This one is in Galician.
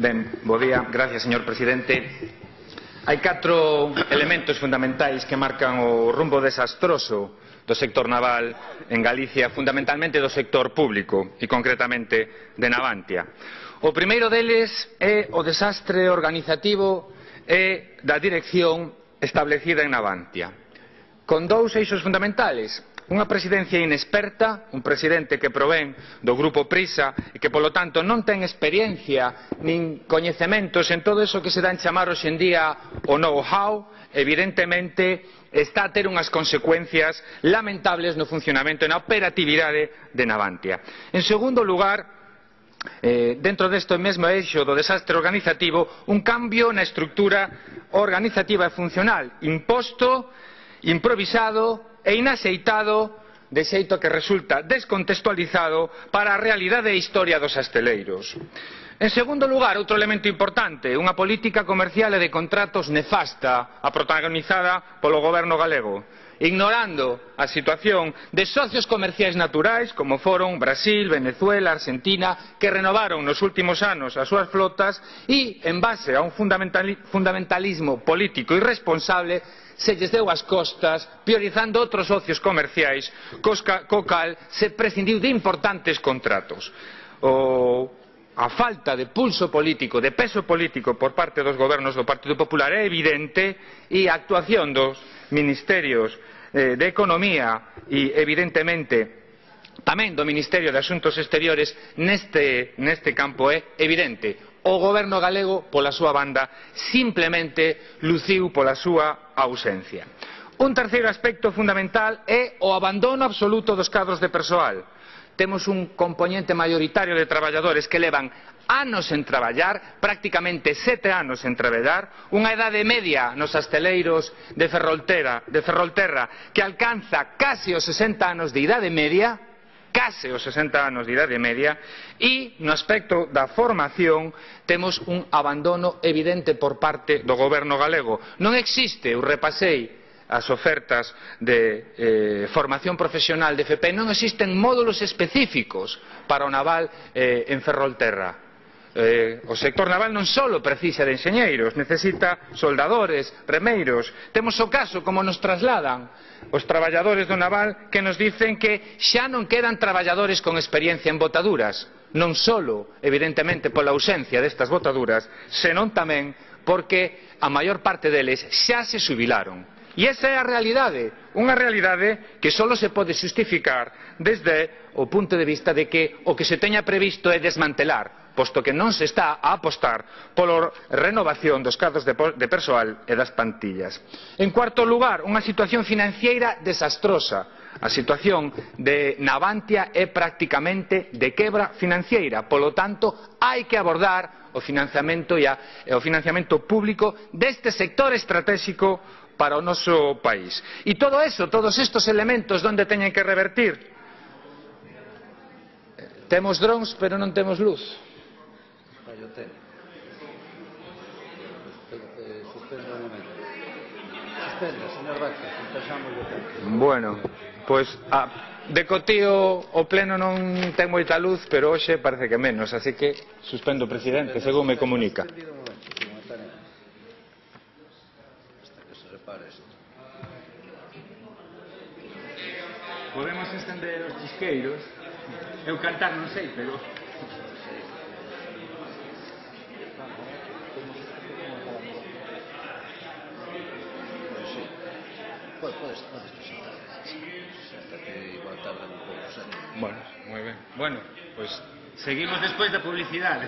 Ben, bo día. Gracias, señor presidente. Hai 4 elementos fundamentais que marcan o rumbo desastroso do sector naval en Galicia, fundamentalmente do sector público e concretamente de Navantia. O primeiro deles é o desastre organizativo e da dirección establecida en Navantia, con 2 eixos fundamentales: unha presidencia inexperta, un presidente que provén do grupo Prisa e que, polo tanto, non ten experiencia nin coñecementos en todo iso que se dá en chamar hoxe en día o know-how. Evidentemente está a ter unhas consecuencias lamentables no funcionamento e na operatividade de Navantia. En segundo lugar, dentro deste mesmo eixo do desastre organizativo, un cambio na estructura organizativa e funcional imposto, improvisado e inaxeitado, de xeito que resulta descontextualizado para a realidade e historia dos asteleiros. En segundo lugar, outro elemento importante, unha política comercial e de contratos nefasta, a protagonizada polo goberno galego, ignorando a situación de socios comerciais naturais como foron Brasil, Venezuela, Argentina, que renovaron nos últimos anos as súas flotas e, en base a un fundamentalismo político irresponsable, se lles deu as costas priorizando outros socios comerciais, co cal se prescindiu de importantes contratos. A falta de pulso político, de peso político por parte dos gobernos do Partido Popular é evidente, e a actuación dos ministerios de Economía e, evidentemente, tamén do Ministerio de Asuntos Exteriores neste campo é evidente. O goberno galego, pola súa banda, simplemente luciu pola súa ausencia. Un terceiro aspecto fundamental é o abandono absoluto dos cadros de persoal. Temos un compoñente mayoritario de traballadores que levan anos en traballar, prácticamente 7 anos en traballar, unha idade media nos asteleiros de Ferrolterra que alcanza case os 60 anos de idade media, e no aspecto da formación temos un abandono evidente por parte do goberno galego. Non existe, eu repasei as ofertas de formación profesional de FP, non existen módulos específicos para o naval en Ferrolterra. O sector naval non só precisa de enxeñeiros, necesita soldadores, remeiros. Temos o caso, como nos trasladan os traballadores do naval, que nos dicen que xa non quedan traballadores con experiencia en botaduras, non só, evidentemente, pola ausencia destas botaduras, senón tamén porque a maior parte deles xa se xubilaron. E esa é a realidade, unha realidade que só se pode xustificar desde o punto de vista de que o que se teña previsto é desmantelar, posto que non se está a apostar pola renovación dos cadros de persoal e das plantillas. En cuarto lugar, unha situación financiera desastrosa. A situación de Navantia é prácticamente de quebra financiera, polo tanto, hai que abordar o financiamento público deste sector estratégico para o noso país. E todo eso, todos estes elementos, onde teñen que revertir? Temos drones, pero non temos luz. Bueno, pois de cotío o pleno non ten moita luz, pero hoxe parece que menos, así que suspendo, presidente, según me comunica. Podemos estender os chisqueiros. Eu cantar non sei, pero... Bueno, moi ben. Bueno, pois seguimos despois da publicidade.